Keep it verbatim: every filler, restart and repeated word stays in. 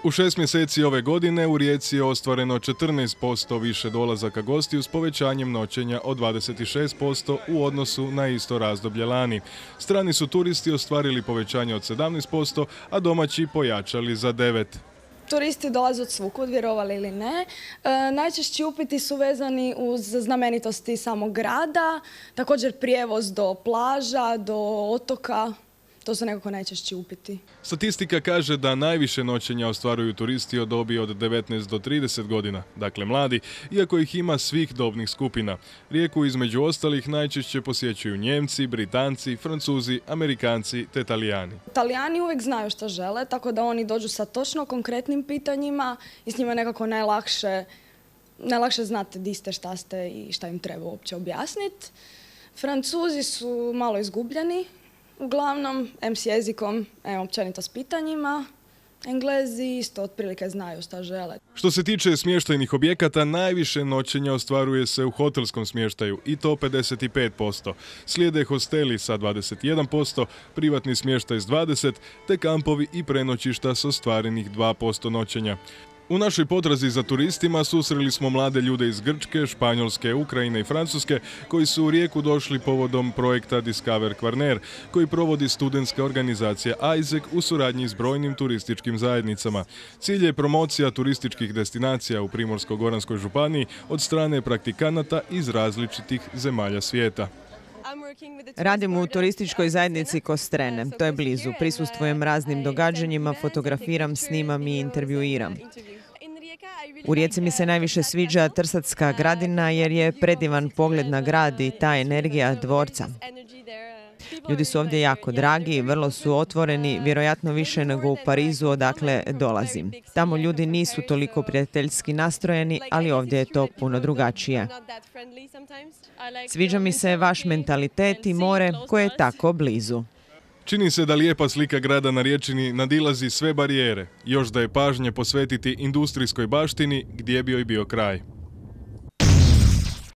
U šest mjeseci ove godine u Rijeci je ostvareno četrnaest posto više dolazaka gostiju s povećanjem noćenja od dvadeset šest posto u odnosu na isto razdoblje lani. Strani su turisti ostvarili povećanje od sedamnaest posto, a domaći pojačali za devet posto. Turisti dolaze od svukud, vjerovali ili ne. E, najčešći upiti su vezani uz znamenitosti samog grada, također prijevoz do plaža, do otoka. To su nekako najčešći upiti. Statistika kaže da najviše noćenja ostvaruju turisti od dobi od devetnaest do trideset godina, dakle mladi, iako ih ima svih dobnih skupina. Rijeku između ostalih najčešće posjećuju Njemci, Britanci, Francuzi, Amerikanci te Talijani. Talijani uvijek znaju što žele, tako da oni dođu sa točno konkretnim pitanjima i s njima nekako najlakše, najlakše znate di ste, šta ste i šta im treba uopće objasniti. Francuzi su malo izgubljeni. Uglavnom, em s jezikom, em općenito s pitanjima. Englezi isto otprilike znaju šta žele. Što se tiče smještajnih objekata, najviše noćenja ostvaruje se u hotelskom smještaju i to pedeset pet posto. Slijede hosteli sa dvadeset jedan posto, privatni smještaj s dvadeset posto, te kampovi i prenoćišta s ostvarenih dva posto noćenja. U našoj potrazi za turistima susreli smo mlade ljude iz Grčke, Španjolske, Ukrajine i Francuske koji su u Rijeku došli povodom projekta Discover Kvarner koji provodi studentska organizacija Isaac u suradnji s brojnim turističkim zajednicama. Cilj je promocija turističkih destinacija u Primorsko-goranskoj županiji od strane praktikanata iz različitih zemalja svijeta. Radim u turističkoj zajednici Kostrene. To je blizu. Prisustvujem raznim događanjima, fotografiram, snimam i intervjuiram. U Rijeci mi se najviše sviđa Trsatska gradina jer je predivan pogled na grad i ta energija dvorca. Ljudi su ovdje jako dragi, vrlo su otvoreni, vjerojatno više nego u Parizu odakle dolazim. Tamo ljudi nisu toliko prijateljski nastrojeni, ali ovdje je to puno drugačije. Sviđa mi se vaš mentalitet i more koje je tako blizu. Čini se da lijepa slika grada na Riječini nadilazi sve barijere, još da je pažnje posvetiti industrijskoj baštini gdje bi joj bio kraj.